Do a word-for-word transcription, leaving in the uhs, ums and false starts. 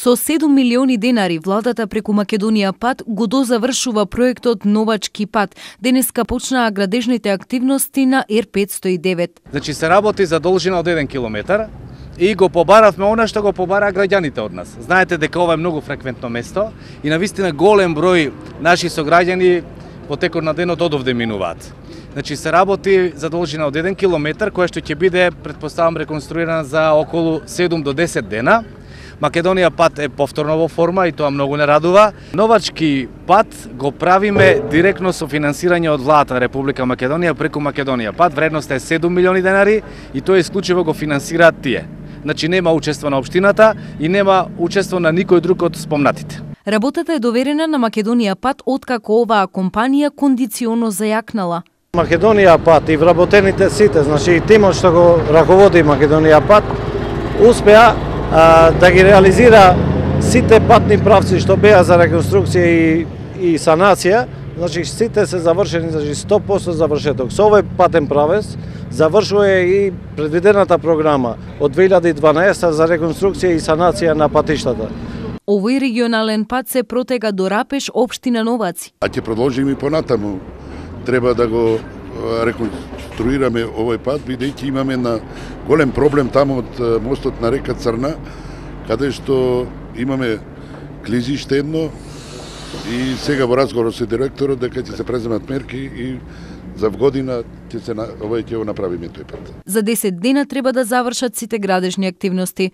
Со седум милиони денари владата преку Македонија пат го дозавршува проектот Новачки пат. Денеска почнаа градежните активности на Р петстотини и девет. Значи се работи за должина од еден километар и го побаравме она што го побараа граѓаните од нас. Знаете дека ова е многу фреквентно место и навистина голем број наши сограѓани во текот на денот одовде минуваат. Значи се работи за должина од еден километар која што ќе биде, претпоставам, реконструирана за околу седум до десет дена. Македонија пат е повторно во форма и тоа многу не радува. Новачки пат го правиме директно со финансирање од владата на Република Македонија преку Македонија пат. Вредноста е седум милиони денари и тоа исклучиво го финансираат тие. Значи нема учество на општината и нема учество на никој друг од спомнатите. Работата е доверена на Македонија пат откако оваа компанија кондиционо зајакнала. Македонија пат и вработените сите, значи и тимот што го раководи Македонија пат, успеа а, да ги реализира сите патни правци што беа за реконструкција и, и санација, значи сите се завршени, значи сто проценти завршеток. Со овој патен правец завршува и предвидената програма од две илјади и дванаесета за реконструкција и санација на патиштата. Овој регионален пат се протега до Рапеш, општина Новаци. А ќе продолжиме и понатаму. Треба да го реконструираме овој пат, бидејќи имаме на голем проблем таму од мостот на река Црна, каде што имаме клизиште едно и сега во разговор со директорот дека ќе се преземат мерки и за година ќе се овој ќе го направиме тој пат. За десет дена треба да завршат сите градежни активности.